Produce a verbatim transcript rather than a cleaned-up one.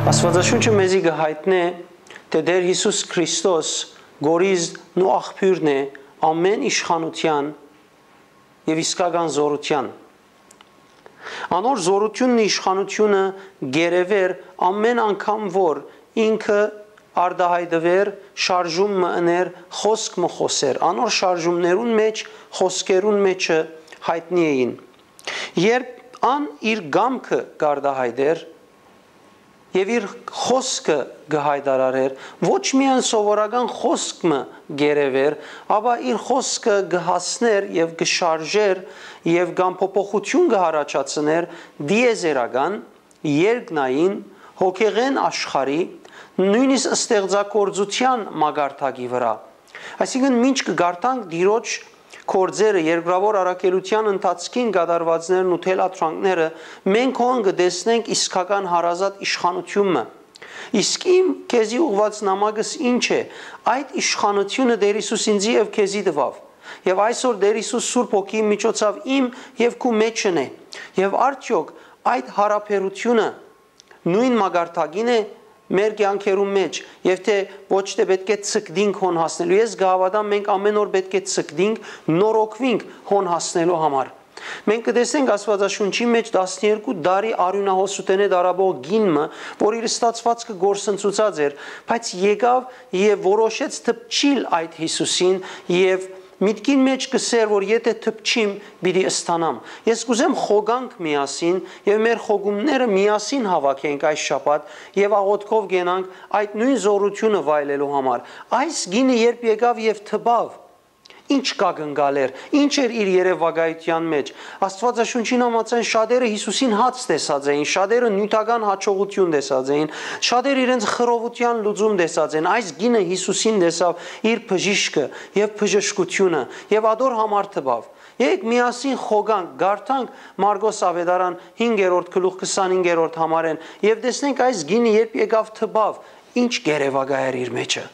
Աստուածաշունչը մեզի կը յայտնէ, թէ Տէր Յիսուս Քրիստոս կորիզն ու աղբիւրն է ամէն իշխանութեան եւ իսկական զօրութեան։ Անոր զօրութիւնն ու իշխանութիւնը կ'երեւէր ամէն անգամ, որ ինքը արտայայտուէր, շարժում մը ընէր, խօսք մը խօսէր։ Անոր շարժումներուն մէջ, խօսքերուն մէջը յայտնի էին։ Երբ ան իր կամքը կ'արտայայտէր, եւ իր խօսքը կը յայտարարէր, ոչ միայն սովորական խօսք մը կ'երեւէր, ապա իր խօսքը կը հասնէր եւ կը շարժէր եւ կամ փոփոխութիւն կը յառաջացնէր տիեզերական, երկնային, հոգեղէն աշխարհի, նոյնիսկ ստեղծագործութեան մակարդակի վրայ։ Այսինքն, մինչ կը կարդանք Տիրոջ գործերը, երկրաւոր առաքելութեան ընթացքին կատարուածներն ու թելադրանքները, մենք հոն կը տեսնենք իսկական հարազատ իշխանութիւն մը։ Իսկ իմ քեզի ուղղուած նամակս ի՞նչ է։ Այդ իշխանութիւնը Տէր Յիսուս ինծի եւ քեզի տուաւ։ Եւ այսօր Տէր Յիսուս Սուրբ Հոգիի միջոցաւ իմ եւ քու մէջն է։ Եւ արդեօք այդ յարաբերութիւնը նոյն մակարդակի՞ն է մեր կեանքերուն մէջ, եւ թէ ոչ թէ պէտք է ցկտինք հոն հասնելու։ Ես կը հաւատամ, մենք ամէն օր պէտք է ցկտինք, նորոգուինք հոն հասնելու համար։ Մենք կը տեսնենք Աստուածաշունչի մէջ տասներկու տարի արիւնահոսութենէ տառապող կին մը, որ իր ստացուածքը կորսնցուցած էր, բայց եկաւ եւ որոշեց դպչիլ այդ Յիսուսին եւ միտքին մէջ կ'ըսէր, որ եթէ դպչիմ, պիտի ստանամ։ Ես կ'ուզեմ խոկանք միասին եւ մեր խոկումները միասին հաւաքենք այս շաբաթ եւ աղօթքով կենանք այդ նոյն զօրութիւնը վայելելու համար։ Այս կինը երբ եկաւ եւ դպաւ, ի՞նչ կակնկալէր, ի՞նչ էր իր երեւակայութեան մէջ։ Աստուածաշունչին համաձայն շատերը Յիսուսին հաց տեսած էին, շատերը նիւթական յաջողութիւն տեսած էին, շատերը իրենց խռովութեան լուծում տեսած են։ Այս կինը Յիսուսին տեսաւ իր բժիշկը եւ բժշկութիւնը եւ ատոր համար դպաւ։ Եկեք միասին խոկանք, կարդանք Մարկոս Աւետարան հինգերորդ գլուխ քսանհինգերորդ համարէն եւ տեսնենք այս կինը երբ եկաւ դպաւ, ի՞նչ կ'երեւակայ էր իր մէջը։